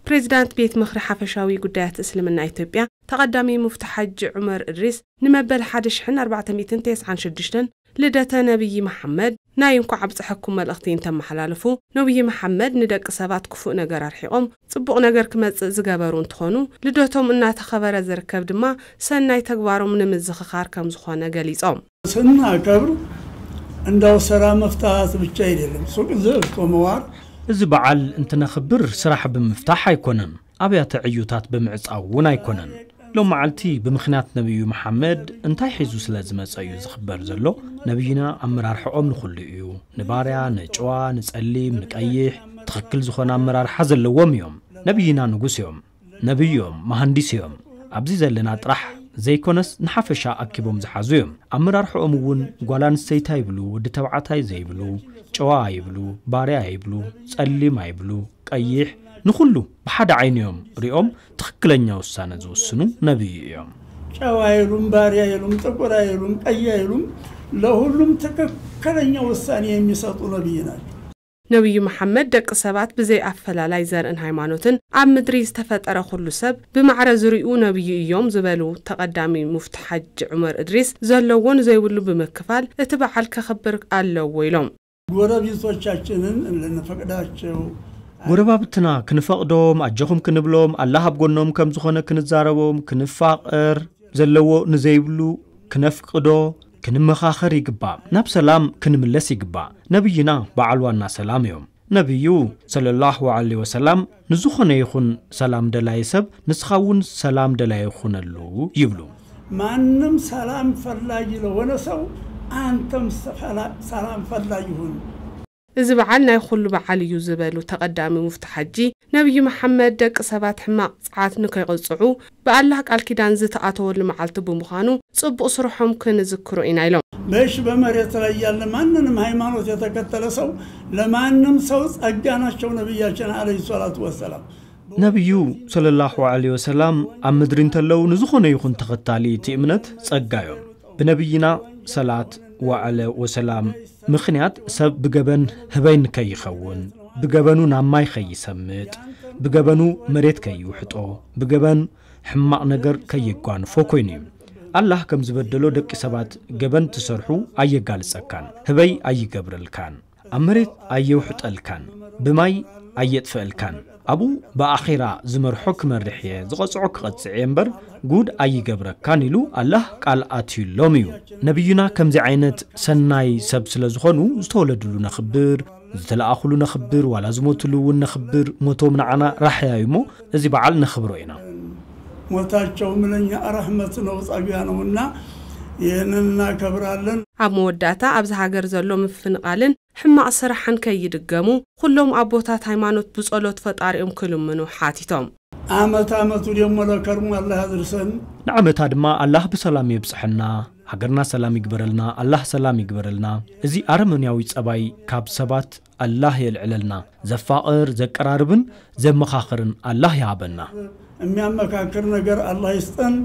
ፕሬዚዳንት ቤት ምኽሪ ሓፈሻዊ ጉዳያት እስልምና ኢትዮጵያ ተቐዳሚ ሙፍቲ ሓጂ ዑመር እድሪስ ንመበል ሓደ ሺሕን ኣርባዕተ ሚእትን ተስዓን ሽዱሽተን ልደተ ነቢይ መሓመድ ናይ እንኳዕ ኣብፀሐኩም መልእኽቲ እንተመሓላለፉ፣ ነቢይ መሓመድ ንደቂ ሰባት ክፉእ ነገር ኣርሒቖም ፅቡቕ ነገር ክመፅእ ዝገበሩ እንትኾኑ፣ ልደቶም እናተኸበረ ዝርከብ ድማ ሰናይ ተግባሮም ንምዝኽኻር ከም ዝኾነ ገሊፆም። ስናከብር እንዳው ስራ መፍታት ብቻ አይደለም፣ ሱቅ ዘግቶ መዋል። እዚ በዓል እንትነኽብር ስራሕ ብምፍታሕ ኣይኮነን፣ ኣብያተ ዕዩታት ብምዕጻው እውን ኣይኮነን። ሎም መዓልቲ ብምኽንያት ነቢዩ መሓመድ እንታይ ሒዙ ስለ ዝመጸ እዩ ዝኽበር ዘሎ። ነቢይና ኣመራርሕኦም ንኹሉ እዩ። ንባርያ፣ ንጭዋ፣ ንጸሊም፣ ንቀይሕ ትኽክል ዝኾነ ኣመራርሓ ዘለዎም እዮም። ነቢይና ንጉስ እዮም። ነቢይ እዮም፣ መሃንዲስ እዮም። ኣብዚ ዘለና ጥራሕ ዘይኮነስ ንሓፈሻ ኣኪቦም ዝሓዙ እዮም። ኣመራርሕኦም እውን ጓል ኣንስተይቲ ኣይብሉ፣ ወዲ ተባዕታይ ዘይብሉ፣ ጨዋ ኣይብሉ፣ ባርያ ኣይብሉ፣ ጸሊም ኣይብሉ፣ ቀይሕ፣ ንኹሉ ብሓደ ዓይኒ እዮም ሪኦም ትኽክለኛ ውሳነ ዝውስኑ ነቢይ እዮም። ጨዋ ኣይሉም፣ ባርያ ኣይሉም፣ ጥቁር ኣይሉም፣ ቀይ ኣይሉም፣ ለሁሉም ትክክለኛ ውሳኔ የሚሰጡ ነቢይ ናቸው። ነቢዩ መሓመድ ደቂ ሰባት ብዘይ ኣፈላላይ ዘርእን ሃይማኖትን ኣብ ምድሪ ዝተፈጠረ ኩሉ ሰብ ብማዕረ ዝሪኡ ነቢዩ እዮም ዝበሉ ተቐዳሚ ሙፍቲ ሓጅ ዑመር እድሪስ ዘለዎ ንዘይብሉ ብምክፋል እቲ በዓል ከኽብር ኣለዎ ኢሎም። ጎረቤቶቻችንን ልንፈቅዳቸው ጎረባብትና ክንፈቕዶም ኣጆኹም ክንብሎም ኣላህ ኣብ ጎኖም ከም ዝኾነ ክንዛረቦም ክንፋቐር ዘለዎ ንዘይብሉ ክነፍቅዶ ክንመኻኸር ይግባእ። ናብ ሰላም ክንምለስ ይግባእ። ነብይና በዓል ዋና ሰላም እዮም። ነብዩ ሰለላሁ ዐለይሂ ወሰላም ንዝኾነ ይኹን ሰላም ደላይ ሰብ ንስኻ እውን ሰላም ደላይ ይኹነሉ ይብሉ። ማንም ሰላም ፈላጊ ለሆነ ሰው አንተም ሰላም ፈላጊ ሁን። እዚ በዓል ናይ ኩሉ በዓል እዩ ዝበሉ ተቐዳሚ ሙፍቲ ሓጂ ነብዩ መሓመድ ደቂ ሰባት ሕማቕ ጸዓት ንከይቕጽዑ ብኣላህ ቃል ኪዳን ዝተኣተወሉ መዓልቲ ብምዃኑ ጽቡቕ ስርሖም ክንዝክሮ ኢና ኢሎም። በሽ በመሬት ላይ ያለ ማንንም ሃይማኖት የተከተለ ሰው ለማንም ሰው ጸጋ ናቸው ነብያችን አለይሂ ሰላቱ ወሰላም። ነብዩ ሰለላሁ ዐለይሂ ወሰላም ኣብ ምድሪ እንተለዉ ንዝኾነ ይኹን ተኸታሊ እቲ እምነት ጸጋ እዮም። ብነብይና ሰላት ወዐለ ወሰላም ምኽንያት ሰብ ብገበን ህበይ ንከይኸውን፣ ብገበኑ ናብ ማይ ከይሰምጥ፣ ብገበኑ መሬት ከይውሕጦ፣ ብገበን ሕማቕ ነገር ከየጓንፎ ኮይኑ እዩ። ኣላህ ከም ዝበደሎ ደቂ ሰባት ገበን ትሰርሑ ኣየጋልጸካን፣ ህበይ ኣይገብረልካን፣ ኣብ መሬት ኣየውሕጠልካን፣ ብማይ ኣየጥፍአልካን። ኣብኡ ብኣኼራ ዝመርሖ ክመርሕ እየ፣ ዝቐጽዖ ክቐጽዕ እየ እምበር ጉድ ኣይገብረካን ኢሉ ኣላህ ቃል ኣትዩሎም እዩ። ነብዩና ከምዚ ዓይነት ሰናይ ሰብ ስለ ዝኾኑ ዝተወለድሉ ነኽብር፣ ዝተለኣኹሉ ነኽብር፣ ዋላ ዝሞትሉ እውን ነኽብር፣ ሞቶም ንዓና ራሕያ እዩ እሞ እዚ በዓል ነኽብሮ ኢና። ሞታቸውም ለኛ ረሕመት ነው፣ ጸጋ ነውና ይህንን እናከብራለን። ኣብ መወዳእታ ኣብዚ ሃገር ዘሎ ምፍንቓልን ሕማቕ ስራሕን ከይድገሙ ኩሎም ኣቦታት ሃይማኖት ብጸሎት ፈጣሪኦም ክልምኑ ሓቲቶም። ዓመት ዓመቱ ደሞ ለከርሙ ኣላህ ያድርሰን። ንዓመታ ድማ ኣላህ ብሰላም የብጽሐና፣ ሃገርና ሰላም ይግበረልና፣ ኣላህ ሰላም ይግበረልና። እዚ ኣረመንያዊ ጸባይ ካብ ሰባት ኣላህ የልዕለልና። ዘፋቕር፣ ዘቀራርብን ዘመኻኽርን ኣላህ ይሃበና። የሚያመካክር ነገር ኣላህ ይስጠን።